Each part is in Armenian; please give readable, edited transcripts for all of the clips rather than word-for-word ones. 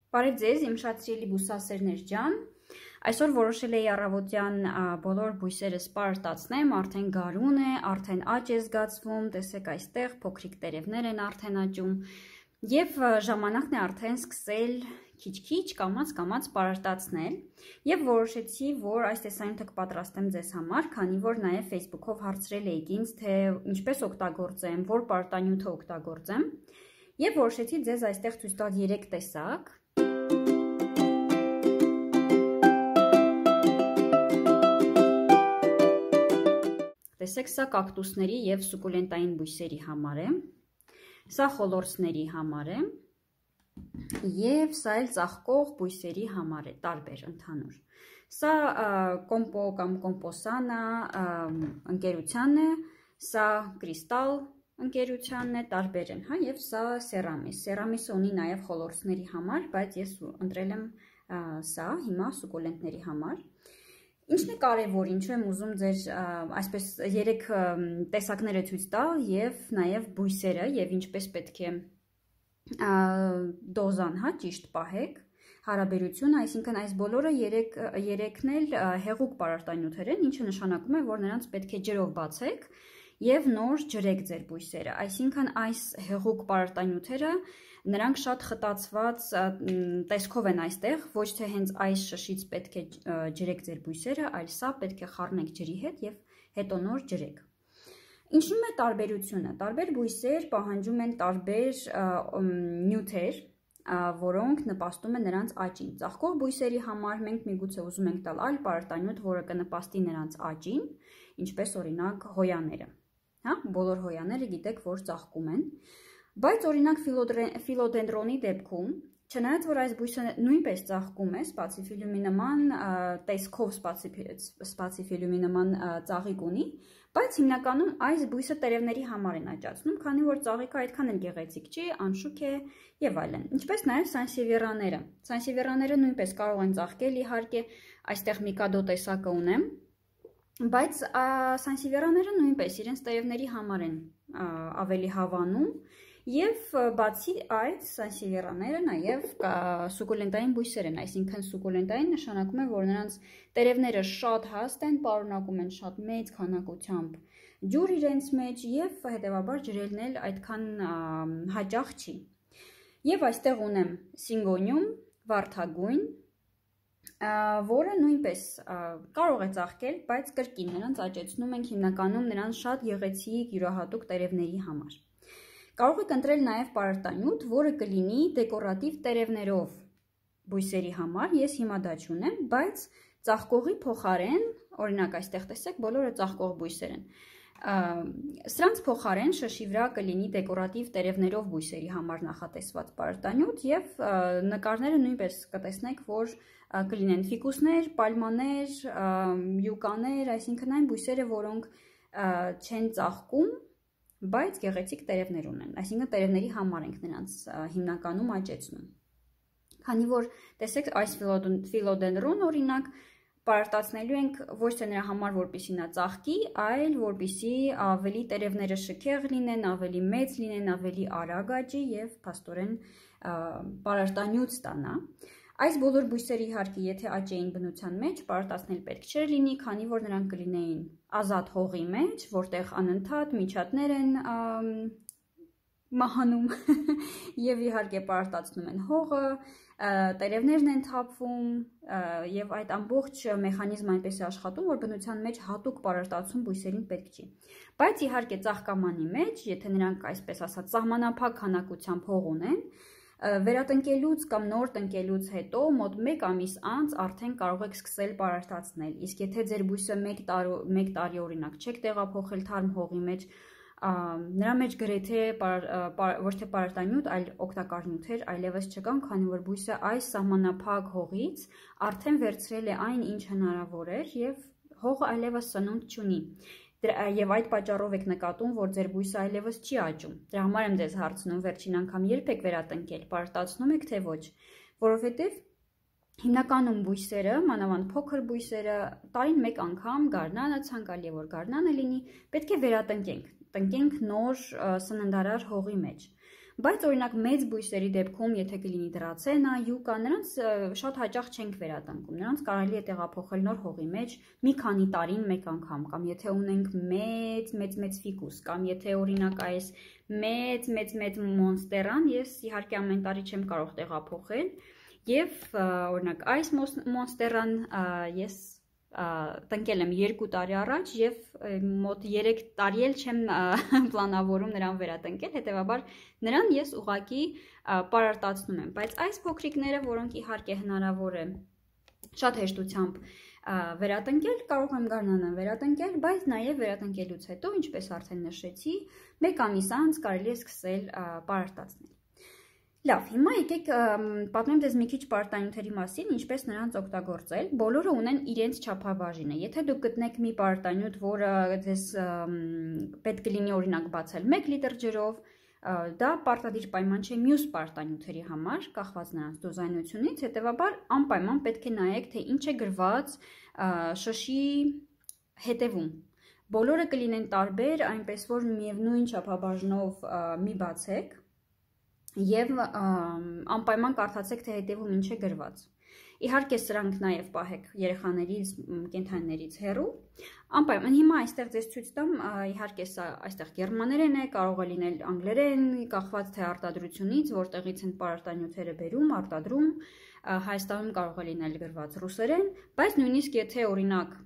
Բարև ձեզ, իմ շատ սիրելի բուսասերներ ջան, այսօր որոշել էի առավոտյան բոլոր բույսերը սպարտացնեմ, արդեն գարուն է, արդեն աճ է զգացվում, տեսեք այստեղ փոքրիկ տերևներ են արդեն աճում և ժամանակն է արդեն սկսել քիչ-քիչ կամաց-կամաց սպարտացնել և որոշեցի, որ այս տեսանյութը կպատրաստեմ ձեզ համար, քանի որ նաև Facebook-ով հարցրել էիք ինձ, թե ինչպես օգտագործեմ, որ պարտանյութը օգտագործեմ և որոշեցի ձեզ այստեղ ցույց տալ 3 տեսակ Տեսեք, սա կակտուսների և սուկուլենտային բույսերի համար է, սա խոլորձների համար է և սա էլ ծաղկող բույսերի համար է, տարբեր ընդհանուր։ Սա կոմպո կամ կոմպոսանա ընկերությանն է, սա կրիստալ ընկերությանն է, տարբեր են, և սա սերամիս։ Սերամիսը ունի նաև խոլորձների համար, բայց ես ընտրել եմ սա հիմա սուկուլենտների համար։ Ինչն է կարևոր, ինչու եմ ուզում ձեր այսպես 3 տեսակները ցույց տալ և նաև բույսերը և ինչպես պետք է դոզան ճիշտ պահեք, հարաբերությունը, այսինքն այս բոլորը 3-ն էլ հեղուկ պարարտանյութեր են, ինչը նշանակում է, որ նրանց պետք է ջրով բացեք և նոր ջրեք ձեր բույսերը, այսինքն այս հեղուկ պարարտանյութերը նրանք շատ խտացված տեսքով են այստեղ, ոչ թե հենց այս շշից պետք է ջրեք ձեր բույսերը, այլ սա պետք է խառնեք ջրի հետ և հետո նոր ջրեք։ Ինչու՞մ է տարբերությունը։ Տարբեր բույսեր պահանջում են տարբեր նյութեր, որոնք նպաստում են նրանց աճին։ Ծաղկող բույսերի համար մենք միգուցե ուզում ենք տալ այլ պարարտանյութ, որը կնպաստի նրանց աճին, ինչպես օրինակ հոյաները։ Բոլոր հոյաները գիտեք, որ ծաղկում են, բայց օրինակ ֆիլոդենդրոնի դեպքում, չնայած որ այս բույսը նույնպես ծաղկում է, սպացիֆիլյումի նման տեսքով սպացիֆիլյումի նման ծաղիկ ունի, բայց հիմնականում այս բույսը տերևների համար են աճացնում, քանի որ ծաղիկը այդքան էլ գեղեցիկ չի, անշուք է եւ այլն։ Ինչպես նաեւ սանսևիերաները։ Սանսևիերաները նույնպես կարող են ծաղկել, իհարկե, այստեղ միկադո տեսակը ունեմ, բայց սանսևիերաները նույնպես իրենց տերևների համար են ավելի հավանում և բացի այդ սանսևիերաները նաև սուկուլենտային բույսեր են, այսինքն սուկուլենտային նշանակում է, որ նրանց տերևները շատ հաստ են, պարունակում են շատ մեծ քանակությամբ ջուր իրենց մեջ և հետևաբար ջրելն էլ այդքան հաճախ չի։ Եվ այստեղ ունեմ սինգոնիում, վարդագույն, որը նույնպես կարող է ծաղկել, բայց կրկին նրանց աճեցնում ենք հիմնականում նրանց շատ գեղեցիկ յուրահատուկ տերևների համար։ Կարող եք ընտրել նաև պարարտանյութ, որը կլինի դեկորատիվ տերևներով բույսերի համար, ես հիմա դա չունեմ, բայց ծաղկողի փոխարեն, օրինակ այստեղ տեսեք, բոլորը ծաղկող բույսեր են։ Սրանց փոխարեն շշի վրա կլինի դեկորատիվ տերևներով բույսերի համար նախատեսված պարարտանյութ և նկարները նույնպես կտեսնեք, որ կլինեն ֆիկուսներ, պալմաներ, յուկաներ, այսինքն այն բույսերը, որոնք չեն ծաղկում, բայց գեղեցիկ տերևներ ունեն, այսինքն տերևների համար ենք նրանց հիմնականում աճեցնում։ Քանի որ տեսեք այս ֆիլոդենդրոն օրինակ պարարտացնելու ենք ոչ թե նրա համար, որպեսզի նա ծաղկի, այլ որպեսզի ավելի տերևները շքեղ լինեն, ավելի մեծ լինեն, ավելի արագ աճի և փաստորեն պարարտանյութ ստանա։ Այս բոլոր բույսերը իհարկե, եթե աճեին բնության մեջ, պարարտացնել պետք չէր լինի, քանի որ նրանք կլինեին ազատ հողի մեջ, որտեղ անընդհատ միջատներ են մահանում և իհարկե պարարտացնում են հողը, տերևներն են թափվում և այդ ամբողջ մեխանիզմը այնպես է աշխատում, որ բնության մեջ հատուկ պարարտացում բույսերին պետք չի։ Բայց իհարկե ծաղկամանի մեջ, եթե նրանք այսպես ասած սահմանափակ քանակությամբ հող ունեն, վերատնկելուց կամ նոր տնկելուց հետո մոտ 1 ամիս անց արդեն կարող եք սկսել պարարտացնել, իսկ եթե ձեր բույսը 1 տարի օրինակ չեք տեղափոխել թարմ հողի մեջ, նրա մեջ գրեթե ոչ թե պարարտանյութ, այլ օգտակար նյութեր այլևս չկան, քանի որ բույսը այս սահմանափակ հողից արդեն վերցրել է այն, ինչ հնարավոր էր և հողը այլևս սնունդ չունի։ Եվ այդ պատճառով եք նկատում, որ ձեր բույսը այլևս չի աճում։ Դրա համար եմ ձեզ հարցնում վերջին անգամ երբ եք վերատնկել, պարարտացնում եք թե ոչ, որովհետև հիմնականում բույսերը, մանավանդ փոքր բույսերը, տարին 1 անգամ գարնանը, ցանկալի է որ գարնանը լինի, պետք է վերատնկենք, տնկենք նոր սննդարար հողի մեջ։ Բայց օրինակ մեծ բույսերի դեպքում, եթե կլինի դրացենա, յուկա, նրանց շատ հաճախ չենք վերատնկում։ Նրանց կարելի է տեղափոխել նոր հողի մեջ մի քանի տարին մեկ անգամ, կամ եթե ունենք մեծ ֆիկուս, կամ եթե օրինակ այս մեծ մոնստերան, ես իհարկե ամեն տարի չեմ կարող տեղափոխել, եւ օրինակ այս մոնստերան ես տնկել եմ 2 տարի առաջ եւ մոտ 3 տարի էլ չեմ պլանավորում նրան վերատնկել, հետեւաբար նրան ես ուղղակի պարարտացնում եմ, բայց այս փոքրիկները, որոնք իհարկե հնարավոր է շատ հեշտությամբ վերատնկել, կարող եմ գարնանան վերատնկել, բայց նաեւ վերատնկելուց հետո, ինչպես արդեն նշեցի, 1 ամիս անց կարելի է սկսել պարարտացնել։ Լավ, հիմա եկեք պատմեմ ձեզ մի քիչ պարարտանյութերի մասին, ինչպես նրանց օգտագործել։ Բոլորը ունեն իրենց չափաբաժինը։ Եթե դուք գտնեք մի պարարտանյութ, որը ձեզ պետք կլինի օրինակ բացել 1 լիտր ջրով, դա պարտադիր պայման չէ մյուս պարարտանյութերի համար, կախված նրանց դոզայնությունից, հետևաբար անպայման պետք է նայեք, թե ինչ է գրված շշի հետևում։ Բոլորը կլինեն տարբեր, այնպես որ միևնույն չափաբաժնով մի բացեք եւ անպայման կարդացեք, թե հետևում ինչ է գրված։ Իհարկե սրանք նաեւ պահեք երեխաներից, կենդանիներից հեռու։ Անպայման հիմա այստեղ ձեզ ցույց տամ, իհարկե սա այստեղ գերմաներեն է, կարող է լինել անգլերեն, կախված թե արտադրությունից, որտեղից են պարարտանյութերը բերում, արտադրում, Հայաստանում կարող է լինել գրված ռուսերեն, բայց նույնիսկ եթե օրինակ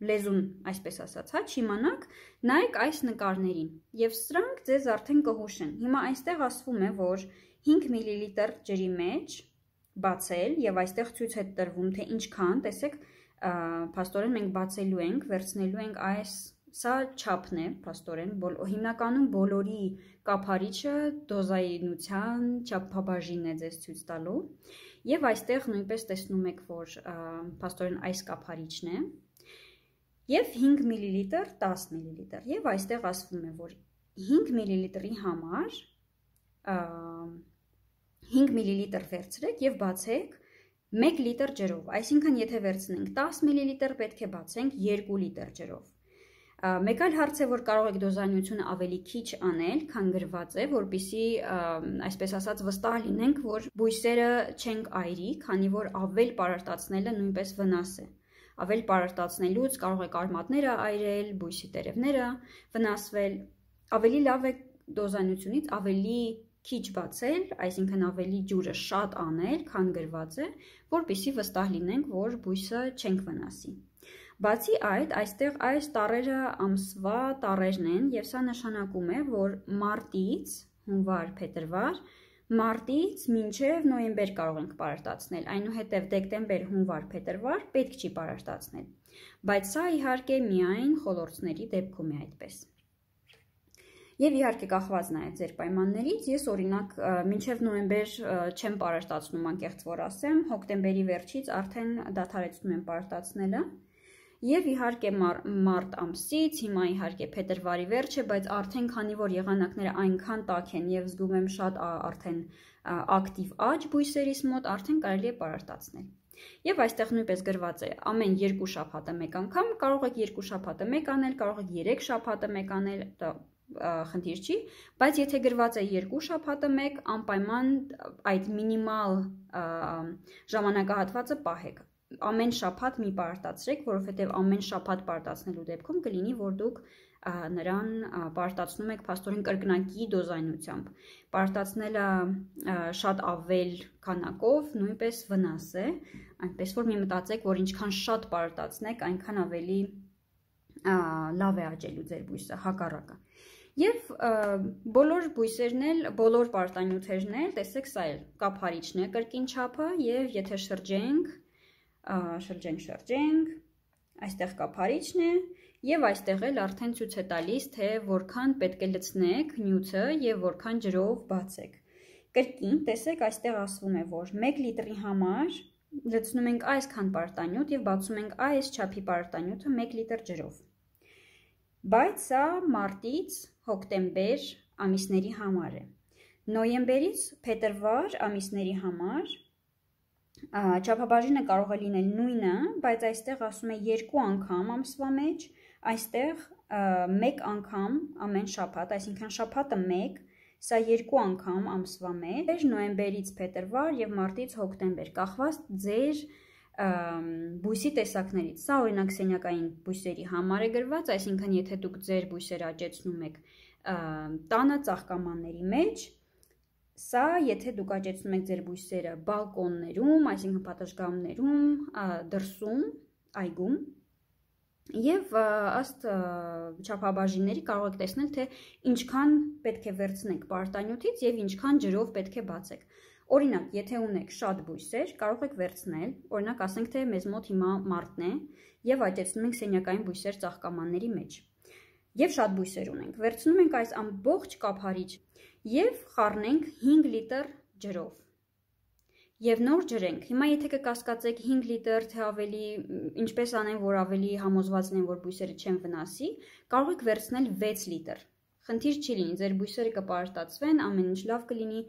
լեզուն, այսպես ասած, չիմանաք, նայեք այս նկարներին եւ սրանք ձեզ արդեն կհուշեն։ Հիմա այստեղ ասվում է, որ 5 մլ ջրի մեջ բացել եւ այստեղ ցույց է տրվում, թե ինչքան, տեսեք, փաստորեն մենք բացելու ենք, վերցնելու ենք այս, սա չափն է, փաստորեն, հիմնականում բոլորի կափարիչը դոզայնության չափաբաժինն է ձեզ ցույց տալու։ Եվ այստեղ նույնպես տեսնում եք, որ փաստորեն այս կափարիչն է, եւ 5 մլ, 10 մլ, եւ այստեղ ասվում է, որ 5 մլ-ի համար 5 մլ վերցրեք եւ բացեք 1 լիտր ջրով, այսինքն եթե վերցնենք 10 մլ, պետք է բացենք 2 լիտր ջրով։ Մեկ այլ հարց է, որ կարող եք դոզայնությունը ավելի քիչ անել, քան գրված է, որպեսզի այսպես ասած վստահ լինենք, որ բույսերը չենք այրի, քանի որ ավել պարարտացնելը նույնպես վնաս է։ Ավել պարարտացնելուց կարող եք արմատները այրել, բույսի տերևները վնասվել։ Ավելի լավ է դոզայնությունից ավելի քիչ բացել, այսինքն ավելի ջուրը շատ անել, քան գրված է, որպեսզի վստահ լինենք, որ բույսը չենք վնասի։ Բացի այդ, այստեղ այս տառերը ամսվա տառերն են եւ սա նշանակում է, որ մարտից, հունվար, փետրվար, մարտից մինչեւ նոյեմբեր կարող ենք պարարտացնել, այնուհետեւ դեկտեմբեր, հունվար, փետրվար պետք չի պարարտացնել, բայց սա իհարկե միայն խոլորձների դեպքում է այդպես։ Եվ իհարկե կախված նայեք ձեր պայմաններից, ես օրինակ մինչև նոյեմբեր չեմ պարարտացնում, անկեղծ որ ասեմ, հոկտեմբերի վերջից արդեն դադարեցնում եմ պարարտացնելը։ Եվ իհարկե մարտ ամսից, հիմա իհարկե փետրվարի վերջ է, բայց արդեն քանի որ եղանակները այնքան տաք են եւ զգում եմ շատ արդեն ակտիվ աճ բույսերիս մոտ, արդեն կարելի է պարարտացնել։ Եվ այստեղ նույնպես գրված է ամեն 2 շաբաթը մեկ անգամ, կարող եք 2 շաբաթը մեկ անել, կարող եք 3 շաբաթը մեկ անել, խնդիր չի, բայց եթե գրված է 2 շաբաթը մեկ, անպայման այդ մինիմալ ժամանակահատվածը պահեք։ Ամեն շաբաթ մի պարարտացրեք, որովհետև ամեն շաբաթ պարարտացնելու դեպքում կլինի, որ դուք նրան պարարտացնում եք փաստորեն կրկնակի դոզայնությամբ։ Պարարտացնելը շատ ավել քանակով նույնպես վնաս է, այնպես որ մի մտածեք, որ ինչքան շատ պարարտացնեք, այնքան ավելի լավ է աճելու ձեր բույսը, հակառակը։ Եվ բոլոր բույսերն էլ, բոլոր պարարտանյութերն էլ, տեսեք, սա էլ կափարիչն է կրկին չափը, եւ եթե շրջենք, այստեղ կափարիչն է եւ այստեղ էլ արդեն ցույց է տալիս, թե որքան պետք է լցնեք նյութը եւ որքան ջրով բացեք։ Կրկին տեսեք, այստեղ ասվում է, որ 1 լիտրի համար լցնում ենք այսքան պարարտանյութ եւ բացում ենք այս չափի պարարտանյութը 1 լիտր ջրով։ Բայց սա մարտից հոկտեմբեր ամիսների համար է։ Նոյեմբերից փետրվար ամիսների համար չափաբաժինը կարող է լինել նույնը, բայց այստեղ ասում է 2 անգամ ամսվա մեջ, այստեղ 1 անգամ ամեն շաբաթ, այսինքն շաբաթը 1, Սա 2 անգամ ամսվա մեջ, նոյեմբերից փետրվար եւ մարտից հոկտեմբեր, կախված ձեր բույսի տեսակներից։ Սա օրինակ սենյակային բույսերի համար է գրված, այսինքն եթե դուք ձեր բույսերը աճեցնում եք տանը ծաղկամանների մեջ, սա եթե դուք աճեցնում եք ձեր բույսերը բալկոններում, այսինքն պատշգամբներում, դրսում, այգում, եւ ըստ չափաբաժինների կարող եք տեսնել, թե ինչքան պետք է վերցնեք պարտանյութից եւ ինչքան ջրով պետք է բացեք։ Օրինակ, եթե ունեք շատ բույսեր, կարող եք վերցնել, օրինակ ասենք, թե մեզ մոտ հիմա մարտն է եւ աճեցնում ենք սենյակային բույսեր ծաղկամանների մեջ։ Եվ շատ բույսեր ունենք։ Վերցնում ենք այս ամբողջ կափարիչ եւ խառնենք 5 լիտր ջրով։ Եվ նոր ջրենք։ Հիմա եթե կկասկածեք 5 լիտր, թե ավելի ինչպես անեն, որ ավելի համոզված լինեն, որ բույսերը չեն վնասի, կարող եք վերցնել 6 լիտր։ Խնդիր չի լինի, ձեր բույսերը կպարտացվեն, ամեն ինչ լավ կլինի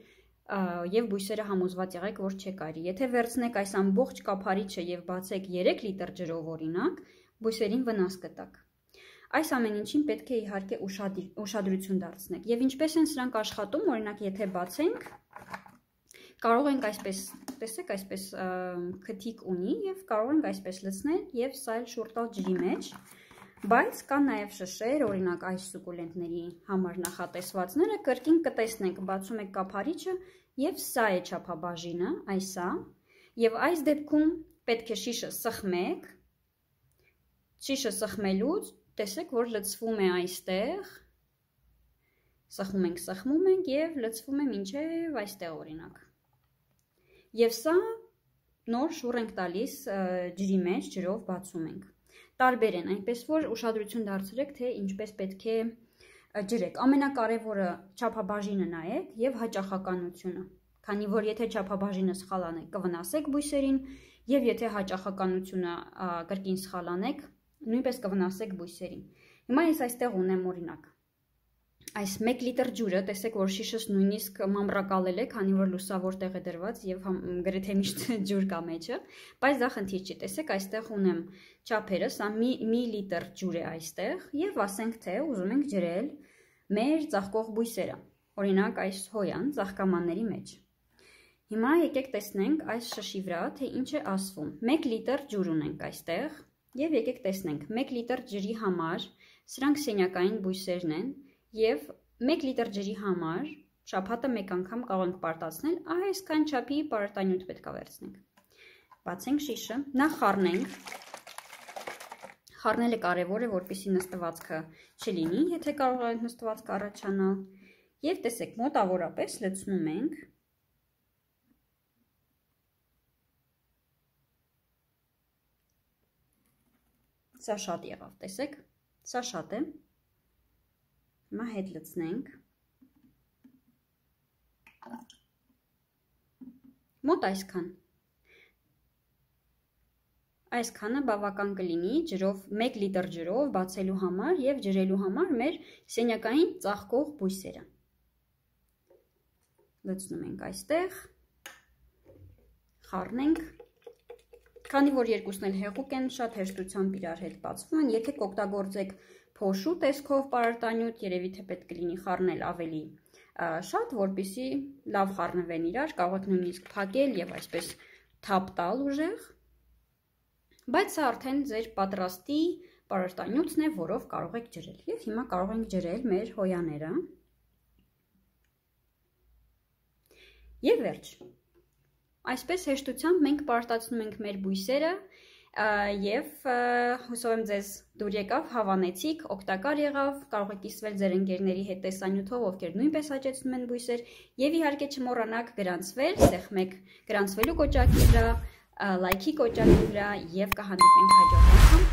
եւ բույսերը համոզված եղեք, որ չեք արի։ Եթե վերցնեք այս ամբողջ կափարիչը եւ բացեք 3 լիտր ջրով օրինակ, բույսերին վնաս կտակ։ Այս ամեն ինչին պետք է իհարկե ուշադրություն դարձնեք։ Եվ ինչպես են սրանք աշխատում, օրինակ եթե բացենք, կարող ենք այսպես, տեսեք, այսպես քթիկ ունի եւ կարող ենք այսպես լցնել եւ սա էլ շուռ տալ ջրի մեջ։ Բայց կա նաև շշեր, օրինակ այս սուկուլենտների համար նախատեսվածները, կրկին կտեսնենք, բացում եք կափարիչը եւ սա է չափաբաժինը, այսա, եւ այս դեպքում պետք է շիշը սխմեք, շիշը սխմելուց տեսեք, որ լցվում է այստեղ, սխմում ենք եւ լցվում է մինչեւ այստեղ օրինակ։ Եվ սա նոր շուռ ենք տալիս ջրի մեջ, ջրով բացում ենք։ Տարբեր են, այնպես որ ուշադրություն դարձրեք, թե ինչպես պետք է ջրեք։ Ամենակարևորը չափաբաժինը նայեք եւ հաճախականությունը, քանի որ եթե չափաբաժինը սխալ անեք, կվնասեք բույսերին, եւ եթե հաճախականությունը կրկին սխալ անեք, նույնպես կվնասեք բույսերին։ Հիմա ես այստեղ ունեմ օրինակ այս 1 լիտր ջուրը, տեսեք, որ շիշս նույնիսկ մամրակալել է, քանի որ լուսավոր տեղ է դրված եւ գրեթե միշտ ջուր կա մեջը, բայց դա խնդիր չի, տեսեք, այստեղ ունեմ չափերը, սա մի լիտր ջուր է այստեղ եւ ասենք, թե ուզում ենք ջրել մեր ծաղկող բույսերը, օրինակ այս հոյան ծաղկամանների մեջ։ Հիմա եկեք տեսնենք այս շշի վրա, թե ինչ է ասվում։ 1 լիտր ջուր ունենք այստեղ եւ եկեք տեսնենք 1 լիտր ջրի համար, սրանք սենյակային բույսերն են եւ 1 լիտր ջրի համար շաբաթը մեկ անգամ կարող ենք պարտացնել, այսքան չափի պարտանյութ պետք է վերցնենք։ Բացենք շիշը, նախ խառնենք։ Խառնելը կարևոր է, որպեսզի նստվածքը չլինի, եթե կարող է նստվածքը առաջանալ։ Եվ տեսեք, մոտավորապես լցնում ենք։ Սա շատ եղավ, տեսեք, սա շատ է։ Հիմա հետ լցնենք։ Մոտ այսքան։ Այսքանը բավական կլինի ջրով, 1 լիտր ջրով բացելու համար եւ ջրելու համար մեր սենյակային ծաղկող բույսերը։ Լցնում ենք այստեղ, խառնենք, քանի որ երկուսն էլ հեղուկ են, շատ հեշտությամբ իրար հետ բացվում են, եթե կօգտագործեք փոշու տեսքով պարարտանյութ, երևի թե պետք կլինի խառնել ավելի շատ, որպեսզի լավ խառնվեն իրար, կարող եք նույնիսկ փակել եւ այսպես թափ տալ ուժեղ, բայց սա արդեն ձեր պատրաստի պարարտանյութն է, որով կարող եք ջրել։ Եվ հիմա կարող ենք ջրել մեր հոյաները։ Եվ վերջ։ Այսպես հեշտությամբ մենք պարտացնում ենք մեր բույսերը եւ հուսով եմ ձեզ դուր եկավ, հավանեցիք, օգտակար եղավ, կարող եք կիսվել ձեր ընկերների հետ տեսանյութով, ովքեր նույնպես աճեցնում են բույսեր, եւ իհարկե չմոռանաք գրանցվել, սեղմեք գրանցվելու կոճակի վրա, լայքի կոճակի վրա եւ կհանդիպենք հաջորդ անգամ